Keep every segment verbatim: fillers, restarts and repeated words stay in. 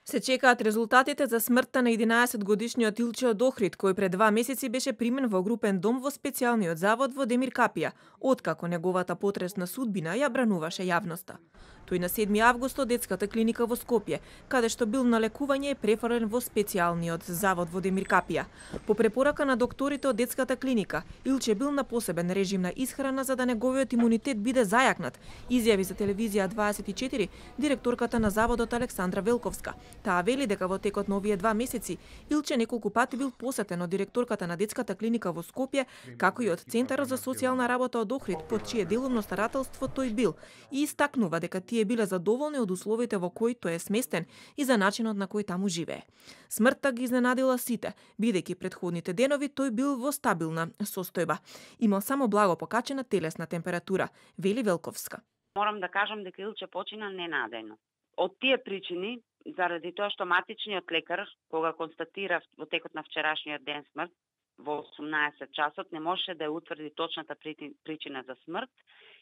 Се чекаат резултатите за смртта на единаесетгодишниот Илче од Охрид, кој пред два месеци беше примен во групен дом во специјалниот завод во Демиркапија, откако неговата потресна судбина ја брануваше јавноста. Тој на седми август од детската клиника во Скопје, каде што бил на лекување, е префрлен во специјалниот завод во Демиркапија. По препорака на докторите од детската клиника, Илче бил на посебен режим на исхрана за да неговиот имунитет биде зајакнат, изјави за телевизија дваесет и четири директорката на заводот Александра Велковска. Таа вели дека во текот на овие два месеци Илче неколку пати бил посетен од директорката на детската клиника во Скопје, како и од Центарот за социјална работа од Охрид, под чие делумно старателство тој бил, и истакнува дека тие биле задоволни од условите во кои тој е сместен и за начинот на кој таму живее. Смртта ги изненадила сите, бидејќи предходните денови тој бил во стабилна состојба. Имал само благо покачена телесна температура, вели Велковска. Морам да кажам дека Илче почина ненадејно. Од тие причини, заради тоа што матичниот лекар, кога констатира во текот на вчерашниот ден смрт, во осумнаесет часот, не можеше да ја утврди точната причина за смрт,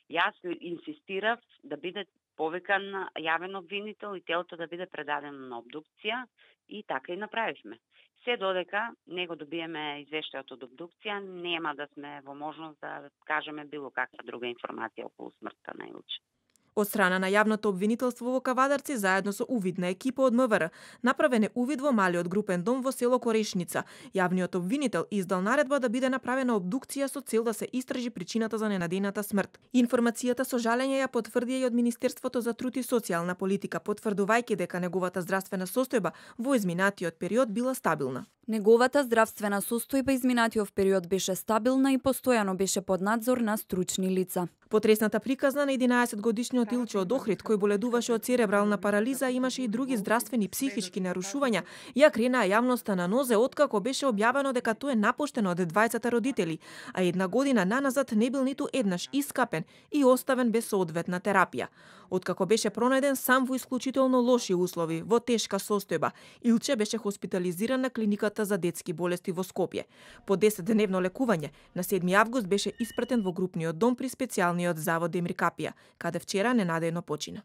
јас инсистирав да биде повикан јавен обвинител и телото да биде предадено на обдукција, и така и направивме. Се додека не го добиеме извештајот од обдукција, нема да сме во можност да кажеме било каква друга информација околу смртта на Илче. Од страна на јавното обвинителство во Кавадарци, заедно со увидна екипа од МВР, направен е увид во малиот групен дом во село Корешница. Јавниот обвинител издал наредба да биде направена обдукција со цел да се истражи причината за ненадејната смрт. Информацијата со жалење ја потврди и од Министерството за труд и социјална политика, потврдувајќи дека неговата здравствена состојба во изминатиот период била стабилна. Неговата здравствена состојба изминатиот период беше стабилна и постојано беше под надзор на стручни лица. Потресната приказна на единаесетгодишниот Илче од Охрид, кој боледуваше од церебрална парализа, имаше и други здравствени психички нарушувања, ја кренаа јавноста на нозе откако беше објавено дека тој е напуштен од двајцата родители, а една година наназад не бил ниту еднаш искапен и оставен без соодветна терапија. Откако беше пронајден сам во исклучително лоши услови, во тешка состојба, Илче беше хоспитализиран на клиниката за детски болести во Скопје. По десетдневно лекување, на седми август беше испратен во групниот дом при специјалниот завод Демиркапија, каде вчера ненадејно почина.